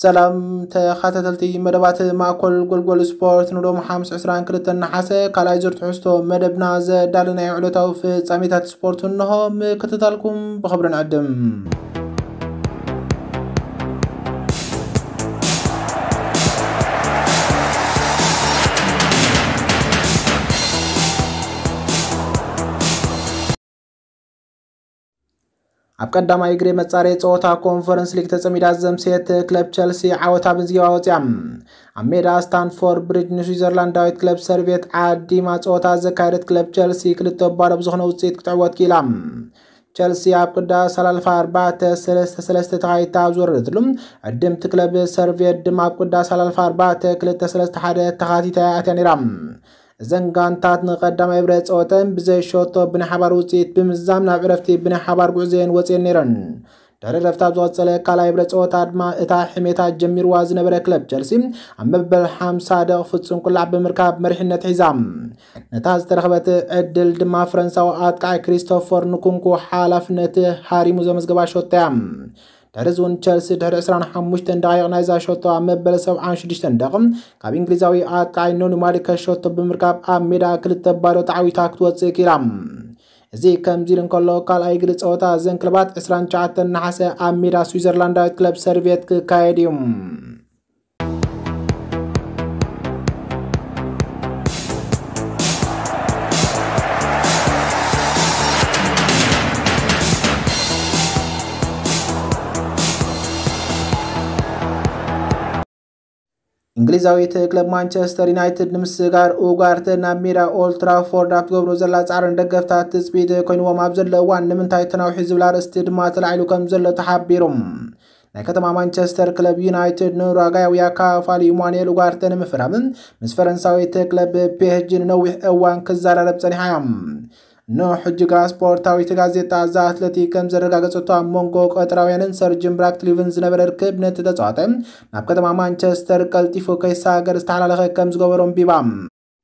ሰላም ተኸታተልቲ መደባት ማእኮል ጎልጎል ስፖርት፣ ንሎም ሓሙስ ዕስራን ክልተን ነሓሰ ካልኣይ ዙር ትሕዝቶ መደብና ዘዳለናዮ ዕለታዊ ፍጻሜታት ስፖርት እንሆ። ምክትታልኩም ብኽብሪ ንዕድም። ኣብ ቀዳማይ እግሪ መጻረይ ጸወታ ኮንፈረንስ ሊግ ተጸሚዳ ዘምሰየት ክለብ ቸልሲ ዓወታ ብምዝገባ ወጽያ። ኣብ ሜዳ ስታንፎርድ ብሪጅ ንስዊዘርላንዳዊት ክለብ ሰርቬት ዓዲማ ጸወታ ዘካየደት ክለብ ቸልሲ ክልተ ባዶ ብዝኾነ ውጽኢት ክትዕወት ክኢላ። ቸልሲ ኣብ ቅዳ ሰላልፋ ኣርባዕተ ሰለስተ ሰለስተ ተኻይታ ኣብ ዝወረደትሉ፣ ዕድምቲ ክለብ ሰርቬት ድማ ኣብ ቅዳ ሰላልፋ ኣርባዕተ ክልተ ሰለስተ ሓደ ተኻቲታ ኣትያ ነይራ። እዘን ጋንታት ንቐዳማይ ብረ ጸወተን ብዘይ ሸቶ ብናይ ሓባር ውጽኢት ብምዝዛም ናብ ዕረፍቲ ብናይ ሓባር ጉዕዘየን ወጽየን ነይረን። ድሕሪ ዕረፍቲ ኣብ ዝቐጸለ ካልኣይ ብረ ጸወታ ድማ እታ ሕሜታ ጀሚርዋ ዝነበረ ክለብ ቸልሲ ኣብ መበል ሓምሳ ደቕ ፍጹም ቁላዕ ብምርካብ መሪሕነት ሒዛ። ነታ ዝተረኽበት ዕድል ድማ ፈረንሳዊ ኣጥቃዒ ክሪስቶፈር ንኩንኩ ሓላፍነት ሃሪሙ ዘመዝገባ ሸቶ እያ። ድሕሪ እዚ እውን ቸልሲ ድሕሪ ዕስራን ሓሙሽተን ደቓይቕ ናይዛ ሸቶ ኣብ መበል ሰብዓን ሽዱሽተን ደቕ ካብ እንግሊዛዊ ኣጥቃዒ ኖኒ ማሊከ ሸቶ ብምርካብ ኣብ ሜዳ ክልተ ባዶ ተዓዊታ ክትወጽእ ክኢላ። እዚ ከምዚ ኢሉ እንከሎ ካልኣይ ግዲ ጸወታ እዘን ክለባት ዕስራን ትሽዓተን ነሓሰ ኣብ ሜዳ ስዊዘርላንዳዊት ክለብ ሰርቬት ክካየድ እዩ። እንግሊዛዊት ክለብ ማንቸስተር ዩናይትድ ንምስጋር ኡጋርተ ናብ ሜዳ ኦልትራፎርድ ኣብ ትገብሮ ዘላ ጻዕርን ደገፍታት ትጽቢት ኮይንዎም ኣብ ዘሎ እዋን ንምንታይ ተናውሒ ዝብል ኣርእስቲ ድማ ተላዒሉ ከም ዘሎ ተሓቢሩ። ናይ ከተማ ማንቸስተር ክለብ ዩናይትድ ንኡራጋያዊ ኣካፋሊ ኢማኑኤል ኡጋርተ ንምፍራምን ምስ ፈረንሳዊት ክለብ ፒኤስጂ ንነዊሕ እዋን ክዘራረብ ጸኒሓ እያ። ንሕጂ ግና ስፖርታዊት ጋዜጣ ዛ ኣትለቲክ ከም ዘረጋገጸቶ ኣብ መንጎ ቀጠራውያንን ሰር ጂም ራትክሊፍን ዝነበረ ርክብ ነቲ ተጻዋታይ ናብ ከተማ ማንቸስተር ቀልጢፉ ከይሰጋገር ዝተሓላለኸ ከም ዝገበሮ ኣንቢባ።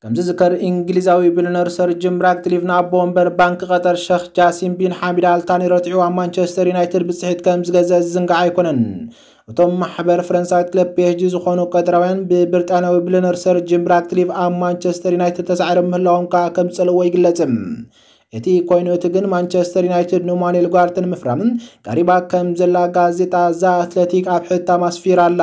ከም ዝዝከር እንግሊዛዊ ቢልዮነር ሰር ጂም ራትክሊፍ ንኣቦ ወንበር ባንክ ቀጠር ሸኽ ጃሲም ቢን ሓሚድ ኣልታኒ ረቲዑ ኣብ ማንቸስተር ዩናይትድ ብጽሒት ከም ዝገዘ ዝዝንጋዕ ኣይኮነን። እቶም ማሕበር ፈረንሳዊት ክለብ ፒኤስጂ ዝኾኑ ቀጠራውያን ብብሪጣንያዊ ቢልዮነር ሰር ጂም ራትክሊፍ ኣብ ማንቸስተር ዩናይትድ ተሳዒሮም ምህላዎም ከኣ ከም ዝጸልእዎ ይግለጽ። እቲ ኮይኑ እቲ ግን ማንቸስተር ዩናይትድ ንማኑኤል ኡጋርተ ንምፍራም ቀሪባ ከም ዘላ ጋዜጣ ዛ ኣትለቲክ ኣብ ሕታም ኣስፊራ ኣላ።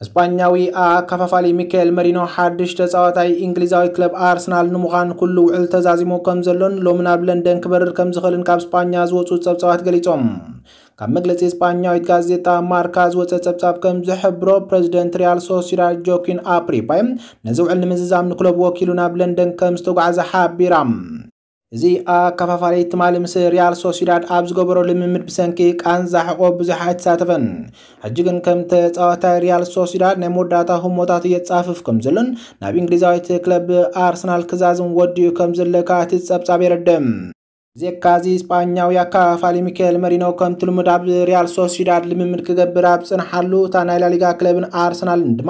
ስጳኛዊ ኣከፋፋሊ ሚካኤል መሪኖ ሓድሽ ተጻዋታይ እንግሊዛዊ ክለብ ኣርሰናል ንምዃን ኩሉ ውዕል ተዛዚሙ ከም ዘሎን ሎሚ ናብ ለንደን ክበርር ከም ዝኽእልን ካብ ስጳኛ ዝወጹ ጸብጻባት ገሊጾም። ካብ መግለጺ ስጳኛዊት ጋዜጣ ማርካ ዝወጸ ጸብጻብ ከም ዝሕብሮ፣ ፕረዚደንት ሪያል ሶሲዳድ ጆኪን ኣፕሪፓይ ነዚ ውዕል ንምዝዛም ንክለቡ ወኪሉ ናብ ለንደን ከም ዝተጓዕዘ ሓቢራ። እዚ ኣከፋፋሊ ትማሊ ምስ ሪያል ሶሲዳድ ኣብ ዝገበሮ ልምምድ ብሰንኪ ቃንዛ ሕቆ ብዙሕ ኣይተሳተፈን። ሕጂ ግን ከም ተጻዋታይ ሪያል ሶሲዳድ ናይ መወዳእታ ህሞታቱ የጻፍፍ ከም ዘሎን ናብ እንግሊዛዊት ክለብ ኣርሰናል ክዛዝም ወዲኡ ከም ዘሎ ከኣ እቲ ጸብጻብ የረድእ። ብዘይካዚ ስጳኛዊ ኣከፋፋሊ ሚካኤል መሪኖ ከምቲ ልሙድ ኣብ ሪያል ሶሲዳድ ልምምድ ክገብር ኣብ ዝጸንሓሉ እታ ናይ ላሊጋ ክለብን ኣርሰናልን ድማ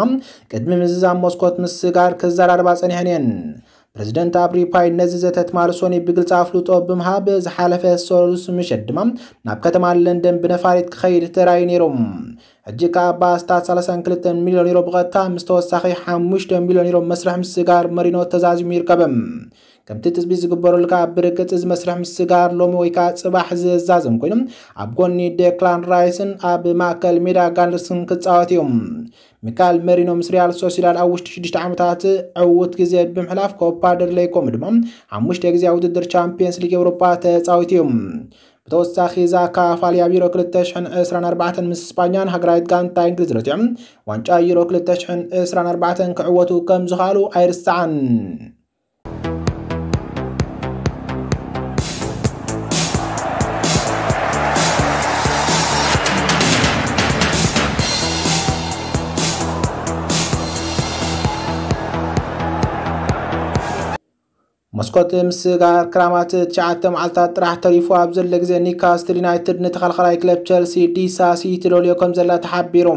ቅድሚ ምዝዛም መስኮት ምስጋር ክዘራረባ ጸኒሐን እየን። ፕረዚደንት ኣፕሪፓይ ነዚ ዘተ ትማሊ ሶኒ ብግልጺ ኣፍልጦ ብምሃብ፣ ዝሓለፈ ሰሉስ ምሸት ድማ ናብ ከተማ ለንደን ብነፋሪት ክኸይድ ተራእዩ ነይሩ። ሕጂ ከኣ ብኣስታት ሰላሳን ክልተን ሚልዮን ዩሮ ብቐጥታ ምስ ተወሳኺ ሓሙሽተ ሚልዮን ዩሮ መስርሕ ምስጋር መሪኖ ተዛዚሙ ይርከብ። ከምቲ ትጽቢት ዝግበረሉ ከኣ ብርግጽ እዚ መስርሕ ምስጋር ሎሚ ወይ ከኣ ጽባሕ ዝዛዘም ኮይኑ ኣብ ጎኒ ዴክላን ራይስን ኣብ ማእከል ሜዳ ጋንደርስን ክጻወት እዩ። ሚካኤል መሪኖ ምስ ሪያል ሶሲዳድ ኣብ ውሽጢ ሽዱሽተ ዓመታት ዕዉት ግዜ ብምሕላፍ ኮፓ ደል ሬይ ከምኡ ድማ ሓሙሽተ ግዜ ኣብ ውድድር ቻምፒየንስ ሊግ ኤውሮጳ ተጻዊቱ እዩ። ብተወሳኺ እዛ ኣከፋፋሊ ኣብ ዩሮ ክልተ ሽሕን ዕስራን ኣርባዕተን ምስ ስጳኛን ሃገራዊት ጋንታ እንግሊዝ ረቲዖም ዋንጫ ዩሮ ክልተ ሽሕን ዕስራን ኣርባዕተን ክዕወቱ ከም ዝኸኣሉ ኣይርሳዕን። ኮት ምስጋር ክራማት ትሽዓተ መዓልታት ጥራሕ ተሪፉ ኣብ ዘሎ ግዜ፣ ኒካስትል ዩናይትድ ንተኸላኻላይ ክለብ ቸልሲ ዲሳሲ ትደልዮ ከም ዘላ ተሓቢሩ።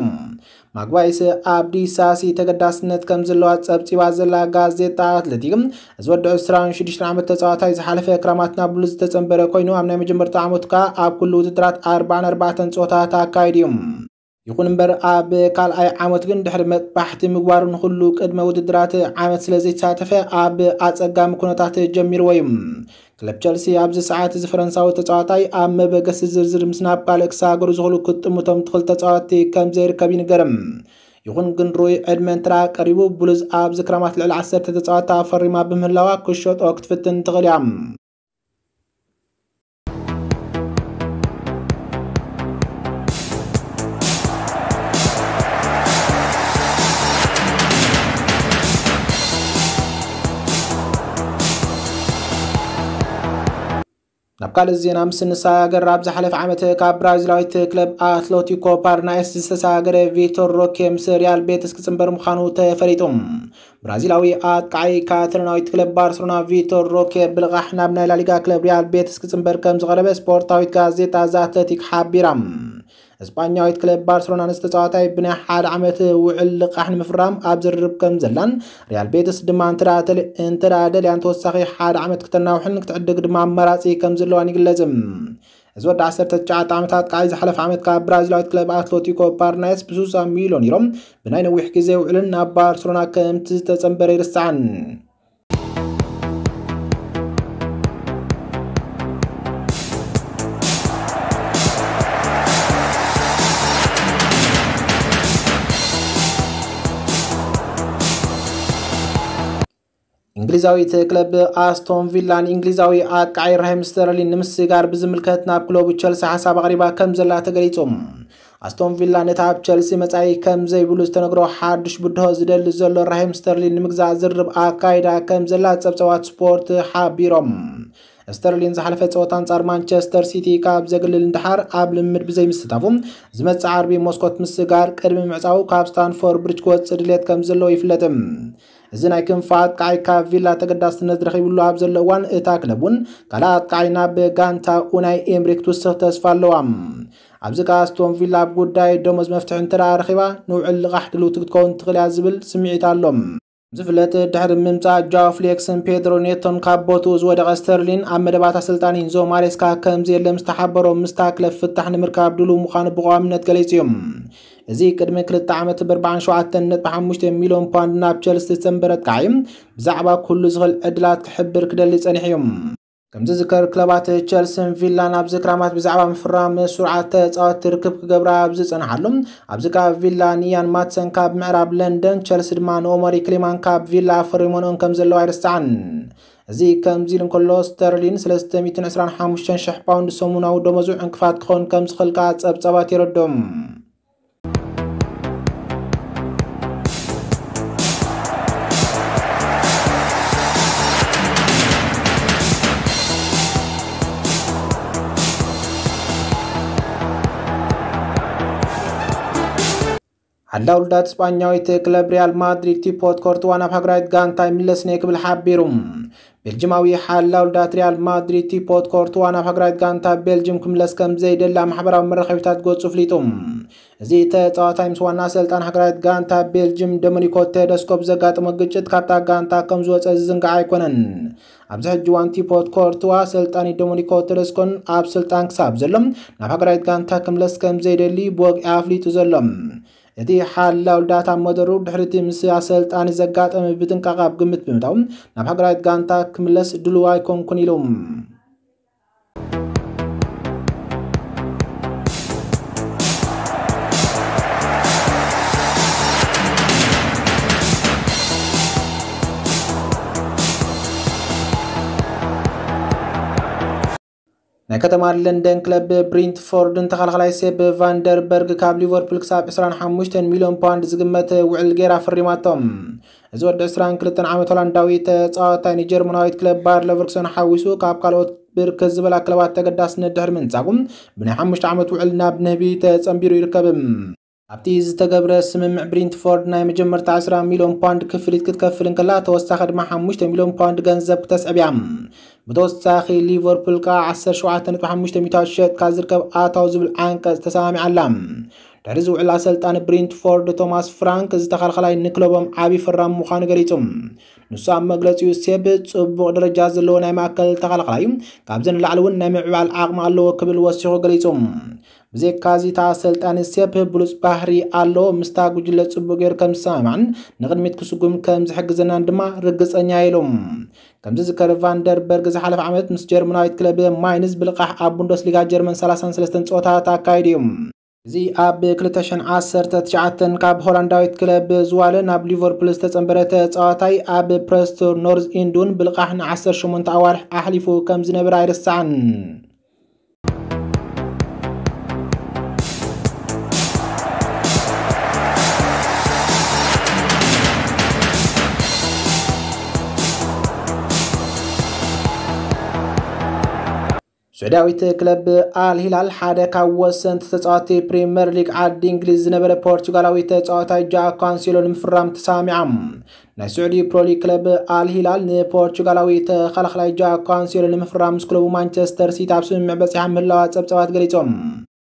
ማግባይስ ኣብ ዲሳሲ ተገዳስነት ከም ዘለዋ ጸብጺባ ዘላ ጋዜጣ ኣትሌቲክ፣ እዚ ወዲ ዕስራን ሽዱሽተን ዓመት ተጻዋታይ ዝሓለፈ ክራማት ናብ ብሉዝ ዝተጸንበረ ኮይኑ፣ ኣብ ናይ መጀመርታ ዓመቱ ከኣ ኣብ ኩሉ ውድድራት ኣርባዓን ኣርባዕተን ጸወታታት ኣካይዱ እዩ። ይኹን እምበር፣ ኣብ ካልኣይ ዓመት ግን ድሕሪ መጥባሕቲ ምግባሩ ንኹሉ ቅድመ ውድድራት ዓመት ስለ ዘይተሳተፈ፣ ኣብ ኣጸጋሚ ኩነታት ጀሚርዎ እዩ። ክለብ ቸልሲ ኣብዚ ሰዓት እዚ ፈረንሳዊ ተጻዋታይ ኣብ መበገሲ ዝርዝር ምስ ናብ ካልእ ክሰጋገሩ ዝኽእሉ ክጥምቶም ትኽእል ተጻዋቲ ከም ዘይርከብ ይንገር። ይኹን ግን ሩይ ዕድመ እንተ ደኣ ቀሪቡ፣ ብሉዝ ኣብዚ ክራማት ልዕሊ ዓሰርተ ተጻዋታ ፈሪማ ብምህላዋ ክሸጦ ክትፍትን ትኽእል እያ። ናብ ካልእ ዜና ምስ እንሰጋገር፣ ኣብ ዝሓለፈ ዓመት ካብ ብራዚላዊት ክለብ ኣትሌቲኮ ፓርናይስ ዝተሰጋገረ ቪቶር ሮኬ ምስ ሪያል ቤትስ ክጽንበር ምዃኑ ተፈሊጡ። ብራዚላዊ ኣጥቃዓይ ካታሎናዊት ክለብ ባርሰሎና ቪቶር ሮኬ ብልቓሕ ናብ ናይ ላሊጋ ክለብ ሪያል ቤትስ ክጽንበር ከም ዝቐረበ ስፖርታዊት ጋዜጣ ዘ ኣትሌቲክ ሓቢራ። እስጳኛዊት ክለብ ባርሰሎና ንዝተጻዋታይ ብናይ ሓደ ዓመት ውዕል ልቓሕ ንምፍራም ኣብ ዝርርብ ከም ዘላን፣ ሪያል ቤትስ ድማ እንተ ደኣ ተል-፣ እንተ ደኣ ደልያን ተወሳኺ ሓደ ዓመት ክተናውሕን ክትዕድግ ድማ ኣማራጺ ከም ዘለዋን ይግለጽ። እዚ ወዲ ዓሰርተ ትሽዓተ ዓመታት ኣጥቃዓይ ዝሓለፈ ዓመት ካብ ብራዚላዊት ክለብ ኣትሌቲኮ ፓርናይስ ብስሳ ሚልዮን ዩሮ ብናይ ነዊሕ ግዜ ውዕልን ናብ ባርሰሎና ከምቲ ዝተጸንበረ ይርሳዕን። እንግሊዛዊት ክለብ ኣስቶን ቪላ ንእንግሊዛዊ ኣጥቃዓይ ራሂም ስተርሊን ንምስጋር ብዝምልከት ናብ ክለቡ ቸልሲ ሓሳብ ኣቕሪባ ከም ዘላ ተገሊጹ። ኣስቶን ቪላ ነቲ ኣብ ቸልሲ መጻኢ ከም ዘይብሉ ዝተነግሮ ሓድሽ ብድሆ ዝደሊ ዘሎ ራሂም ስተርሊን ንምግዛእ ዝርርብ ኣካይዳ ከም ዘላ ጸብጻባት ስፖርት ሓቢሮም። ስተርሊን ዝሓለፈ ጸወታ ኣንጻር ማንቸስተር ሲቲ ካብ ዘግልል ንደሓር ኣብ ልምምድ ብዘይምስታፉ፣ ዝመጽእ ዓርቢ መስኮት ምስጋር ቅድሚ ምዕጻው ካብ ስታንፎርድ ብሪጅ ክወጽእ ድሌት ከም ዘለዎ ይፍለጥ። እዚ ናይ ክንፊ ኣጥቃዓይ ካብ ቪላ ተገዳስነት ረኺብሉ ኣብ ዘሎ እዋን፣ እታ ክለብ እውን ካልእ ኣጥቃዓይ ናብ ጋንታ ኡናይ ኤምሪ ክትውስኽ ተስፋ ኣለዋ። ኣብዚ ከኣ ኣስቶን ቪላ ኣብ ጉዳይ ደሞዝ መፍትሒ እንተ ደኣ ረኺባ፣ ንውዕል ልቓሕ ድልውቲ ክትከውን ትኽእል እያ ዝብል ስምዒት ኣሎ። ዝፍለጥ፣ ድሕሪ ምምጻእ ጃኦ ፍሌክስን ፔድሮ ኔቶን ካብ ቦትኡ ዝወደቐ ስተርሊን፣ ኣብ መደባት ኣሰልጣኒ ኢንዞ ማሬስካ ከም ዘየለ ምስ ተሓበሮ፣ ምስታ ክለብ ፍታሕ ንምርካብ ድሉው ምዃኑ ብቐዋምነት ገሊጹ እዩ። እዚ ቅድሚ ክልተ ዓመት ብ ኣርባዓን ሸውዓተን ነጥቢ ሓሙሽተ ሚልዮን ፓውንድ ናብ ቸልሲ ዝተንበረ ኣጥቃዓይ፣ ብዛዕባ ኩሉ ዝኽእል ዕድላት ክሕብር ክደሊ ጸኒሑ እዩ። ከም ዝዝከር፣ ክለባት ቸልሲን ቪላን ኣብዚ ክራማት ብዛዕባ ምፍራም ስሩዓት ተጻወትቲ ርክብ ክገብራ ኣብ ዝጸንሓሉ፣ ኣብዚ ከኣ ቪላ ንኢያን ማትሰን ካብ ምዕራብ ለንደን፣ ቸልሲ ድማ ንኦመሪ ክሊማን ካብ ቪላ ፈሪሞንኦም ከም ዘለዋ ኣይርሳዕን። እዚ ከምዚ ኢሉ እንከሎ፣ ስተርሊን ሰለስተ ሚእትን ዕስራን ሓሙሽተን ሽሕ ፓውንድ ሰሙናዊ ደሞዙ ዕንቅፋት ክኸውን ከም ዝኽእል ከኣ ጸብጻባት የረድኡ። ሓላ ውልዳት ስጳኛዊት ክለብ ሪያል ማድሪድ ቲፖት ኮርትዋ ናብ ሃገራዊት ጋንታ ይምለስን እየ ክብል ሓቢሩ። ቤልጅማዊ ሓላ ውልዳት ሪያል ማድሪድ ቲፖት ኮርትዋ ናብ ሃገራዊት ጋንታ ቤልጅም ክምለስ ከም ዘይደሊ ኣብ ማሕበራዊ መራኸቢታት ገጹ ኣፍሊጡ። እዚ ተጻዋታይ ምስ ዋና ኣሰልጣን ሃገራዊት ጋንታ ቤልጅም ዶሚኒኮ ቴደስኮ ብዘጋጠሞ ግጭት ካብታ ጋንታ ከም ዝወጸ ዝዝንጋዕ ኣይኮነን። ኣብዚ ሕጂ እዋን ቲፖት ኮርትዋ ኣሰልጣኒ ዶሚኒኮ ቴደስኮን ኣብ ስልጣን ክሳብ ዘሎ ናብ ሃገራዊት ጋንታ ክምለስ ከም ዘይደሊ ብወግዒ ኣፍሊጡ ዘሎ። እቲ ሓላው ዳታ መደሩ ድሕሪቲ ምስ ኣሰልጣኒ ዘጋጠመ ብጥንቃቐ ኣብ ግምት ብምእታው ናብ ሃገራዊት ጋንታ ክምለስ ድሉው ኣይኮንኩን ኢሉ። ናይ ከተማ ለንደን ክለብ ብሪንትፎርድን ተኸላኻላይ ሴፕ ቫንደርበርግ ካብ ሊቨርፑል ክሳብ ዕስራን ሓሙሽተን ሚልዮን ፓውንድ ዝግመት ውዕል ገይራ ፈሪማቶም። እዚ ወዲ ዕስራን ክልተን ዓመት ሆላንዳዊ ተጻዋታይ ንጀርመናዊት ክለብ ባየር ለቨርኩሰን ሓዊሱ ካብ ካልኦት ብርክት ዝበላ ክለባት ተገዳስነት ድሕሪ ምንጻጉ ብናይ ሓሙሽተ ዓመት ውዕል ናብ ንህቢ ተጸንቢሩ ይርከብ። ኣብቲ ዝተገብረ ስምምዕ ብሪንትፎርድ ናይ መጀመርታ ዕስራ ሚልዮን ፓውንድ ክፍሊት ክትከፍል እንከላ፣ ተወሳኺ ድማ ሓሙሽተ ሚልዮን ፓውንድ ገንዘብ ክተስዕብ እያ። ብተወሳኺ ሊቨርፑል ከኣ ዓሰርተ ሸውዓተ ነጥቢ ሓሙሽተ ሚእታዊት ሸጥካ ዝርከብ ኣታዊ ዝብል ዓንቀጽ ተሰማሚዓ ኣላ። ድሕሪ ዝውዕል ኣሰልጣኒ ብሪንትፎርድ ቶማስ ፍራንክ፣ እዚ ተኸላኻላይ ንክለቦም ዓቢ ፈራሚ ምዃኑ ገሊጹ። ንሱ ኣብ መግለጺኡ፣ ሴፕ ጽቡቕ ደረጃ ዘለዎ ናይ ማእከል ተኸላኻላይ እዩ፣ ካብዚ ንላዕሊ እውን ናይ ምዕባል ዓቕሚ ኣለዎ ክብል ወሲኹ ገሊጹ። ብዘይካዚ፣ እታ ኣሰልጣኒ፣ ሴፕ ብሉጽ ባህሪ ኣለዎ፣ ምስታ ጉጅለ ጽቡቕ ገይሩ ከም ዝሰማማዕን ንቕድሚት ክስጉም ከም ዝሕግዘናን ድማ ርግጸኛ እየ ኢሉ። ከም ዝዝከር፣ ቫንደርበርግ ዝሓለፈ ዓመት ምስ ጀርመናዊት ክለብ ማይንዝ ብልቓሕ ኣብ ቡንደስሊጋ ጀርመን ሰላሳን ሰለስተን ጸወታታት ኣካይዱ እዩ። እዚ ኣብ ክልተ ሽሕን ዓሰርተ ትሽዓተን ካብ ሆላንዳዊት ክለብ ዝዋለ ናብ ሊቨርፑል ዝተጸንበረ ተጻዋታይ፣ ኣብ ፕረስቶን ኖርዝ ኢንድ እውን ብልቓሕ ን ዓሰርተ ሸሞንተ ኣዋርሕ ኣሕሊፉ ከም ዝነበረ ኣይርሳዕን። ስዑዳዊት ክለብ ኣል ሂላል ሓደ ካብ ወሰንቲ ተጻወትቲ ፕሪምየር ሊግ ዓዲ እንግሊዝ ዝነበረ ፖርቹጋላዊ ተጻዋታይ ጃክ ካንሴሎ ንምፍራም ተሰማሚዓ። ናይ ስዑዲ ፕሮ ሊግ ክለብ ኣል ሂላል ንፖርቹጋላዊ ተኸላኻላይ ጃክ ካንሴሎ ንምፍራም ምስ ክለቡ ማንቸስተር ሲቲ ኣብ ስምምዕ በጺሓ ምህላዋ ጸብጻባት ገሊጾም።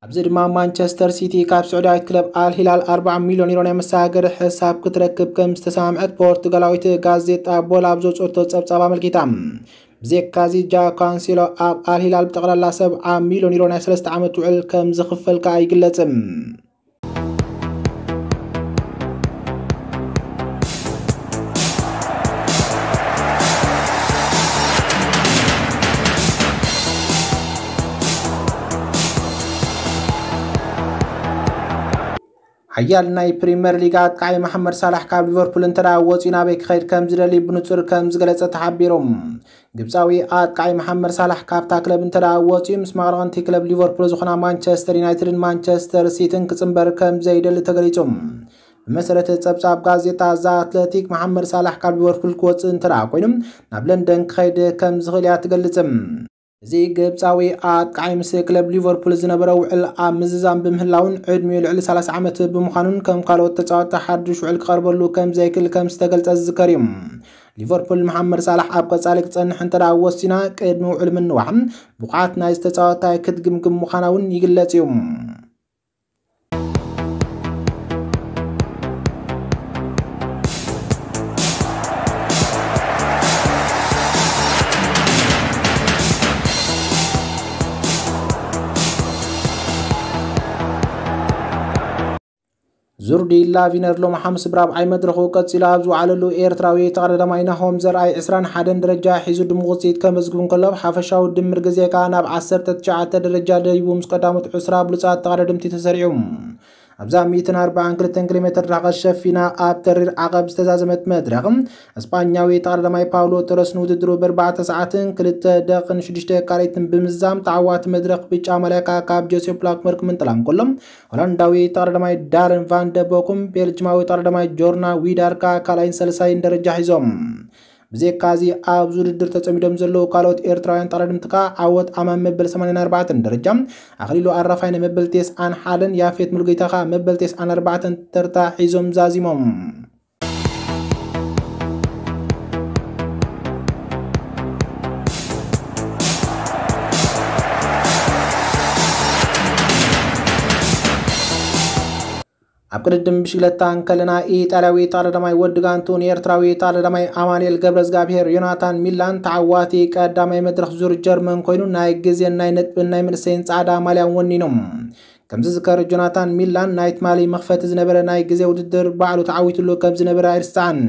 ኣብዚ ድማ ማንቸስተር ሲቲ ካብ ስዑዳዊት ክለብ ኣል ሂላል ኣርባዓ ሚልዮን ዩሮ ናይ መሰጋገሪ ሕሳብ ክትረክብ ከም ዝተሰማምዐት ፖርቱጋላዊት ጋዜጣ ቦላ ኣብ ዘውጽኦቶ ጸብጻብ ኣመልኪታ። ብዘይካዚ፣ ጃክ ካንሴሎ ኣብ ኣል ሂላል ብጠቕላላ ሰብዓ ሚልዮን ዩሮ ናይ ሰለስተ ዓመት ውዕል ከም ዝኽፈል ከኣ ይግለጽ። ሓያል ናይ ፕሪምየር ሊግ ኣጥቃዒ መሓመድ ሳላሕ ካብ ሊቨርፑል እንተ ደኣ ወጺኡ ናበይ ክኸይድ ከም ዝደሊ ብንጹር ከም ዝገለጸ ተሓቢሩ። ግብጻዊ ኣጥቃዒ መሓመድ ሳላሕ ካብታ ክለብ እንተ ደኣ ወጺኡ ምስ መቐረቐንቲ ክለብ ሊቨርፑል ዝኾና ማንቸስተር ዩናይትድን ማንቸስተር ሲቲን ክጽንበር ከም ዘይደሊ ተገሊጹ። ብመሰረት ጸብጻብ ጋዜጣ ዘ ኣትለቲክ፣ መሓመድ ሳላሕ ካብ ሊቨርፑል ክወጽእ እንተ ደኣ ኮይኑ ናብ ለንደን ክኸይድ ከም ዝኽእል እያ ትገልጽ። እዚ ግብጻዊ ኣጥቃዒ ምስ ክለብ ሊቨርፑል ዝነበረ ውዕል ኣብ ምዝዛም ብምህላውን ዕድሚኡ ልዕሊ ሰላሳ ዓመት ብምዃኑን ከም ካልኦት ተጻወትቲ ሓድሽ ውዕል ክቐርበሉ ከም ዘይክእል ከም ዝተገልጸ ዝዝከር እዩ። ሊቨርፑል መሓመድ ሳላሕ ኣብ ቀጻሊ ክጸንሕ እንተ ደኣ ወሲና ቅድሚ ውዕል ምንዋሕ ብቕዓት ናይዚ ተጻዋታይ ክትግምግም ምዃና እውን ይግለጽ እዩ። ዙርዲ ላቪነር ሎሚ ሓሙስ ብራብዓይ መድረኹ ቀጺሉ ኣብ ዝወዓለሉ፣ ኤርትራዊ ተቐዳዳማይ ናሆም ዘርኣይ ዕስራን ሓደን ደረጃ ሒዙ ድሙቕ ውጽኢት ከመዝግብ እንከሎ፣ ብሓፈሻዊ ድምር ግዜ ከኣ ናብ ዓሰርተ ትሽዓተ ደረጃ ደይቡ ምስ ቀዳሞት ዕስራ ብሉጻት ተቐዳደምቲ ተሰሪዑ። ኣብዛ ሚእትን ኣርባዓን ክልተን ኪሎ ሜትር ርሕቀት ሸፊና ኣብ ተሪር ዓቐብ ዝተዛዘመት መድረኽ፣ እስጳኛዊ ተቐዳዳማይ ፓውሎ ቶረስ ንውድድሩ ብኣርባዕተ ሰዓትን ክልተ ደቕን ሽዱሽተ ካልኢትን ብምዝዛም ተዓዋቲ መድረኽ ብጫ ማልያ ከኣ ካብ ጆሴፍ ብላክመርክ ምንጥላም ከሎ፣ ሆላንዳዊ ተቐዳዳማይ ዳረን ቫን ደ ቦኩም ቤልጅማዊ ተቐዳዳማይ ጆርና ዊዳር ከኣ ካልኣይን ሳልሳይን ደረጃ ሒዞም። ብዘይካዚ ኣብዚ ውድድር ተጸሚዶም ዘለዉ ካልኦት ኤርትራውያን ተቐዳደምቲ ከኣ ዓወት ኣማን መበል ሰማንያን ኣርባዕተን ደረጃ፣ ኣኽሊሉ ኣራፋይነ መበል ተስዓን ሓደን፣ ያፌት ሙሉጌታ ከኣ መበል ተስዓን ኣርባዕተን ተርታ ሒዞም ዛዚሞም። ኣብ ቅድድም ብሽግለታ እንከለና፣ ኢጣልያዊ ተቐዳዳማይ ወዲ ጋንቱ ንኤርትራዊ ተቐዳዳማይ ኣማኑኤል ገብረዝጋብሄር ዮናታን ሚላን ተዓዋቲ ቀዳማይ መድረኽ ዙር ጀርመን ኮይኑ፣ ናይ ግዜን ናይ ነጥብን ናይ መንእሰይን ጻዕዳ ማልያን ወኒኑ። ከም ዝዝከር፣ ጆናታን ሚላን ናይ ትማሊ መኽፈቲ ዝነበረ ናይ ግዜ ውድድር ባዕሉ ተዓዊትሉ ከም ዝነበረ ኣይርሳዕን።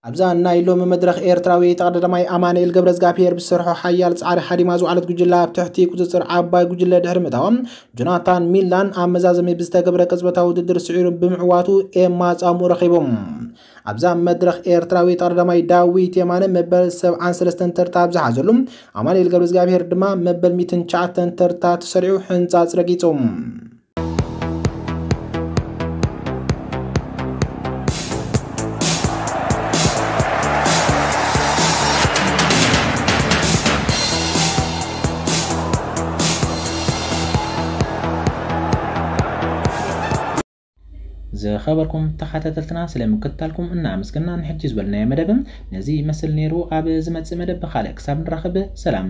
ኣብዛ ናይ ሎሚ መድረኽ፣ ኤርትራዊ ተቐዳዳማይ ኣማኑኤል ገብረዝጋብሄር ብዝሰርሖ ሓያል ጻዕሪ ሃዲማ ዝወዓለት ጉጅለ ኣብ ትሕቲ ቁጽጽር ዓባይ ጉጅለ ድሕሪ ምእታዋ፣ ጆናታን ሚላን ኣብ መዛዘሚ ብዝተገብረ ቅጽበታዊ ውድድር ስዒሩ ብምዕዋቱ ኤማ ጻምኡ ረኺቡ። ኣብዛ መድረኽ፣ ኤርትራዊ ተቐዳዳማይ ዳዊት የማነ መበል ሰብዓን ሰለስተን ተርታ ኣብ ዝሓዘሉ፣ ኣማኑኤል ገብረዝጋብሄር ድማ መበል ሚእትን ትሽዓተን ተርታ ተሰሪዑ ሕንጻጽ ረጊጹ። ዝኸበርኩም ተኸታተልትና፣ ስለ ምክትታልኩም እናኣመስገና፣ ንሕጂ ዝበልናዮ መደብ ነዚ ይመስል ነይሩ። ኣብ ዝመጽእ መደብ ብኻልእ ክሳብ ንራኸብ ሰላም።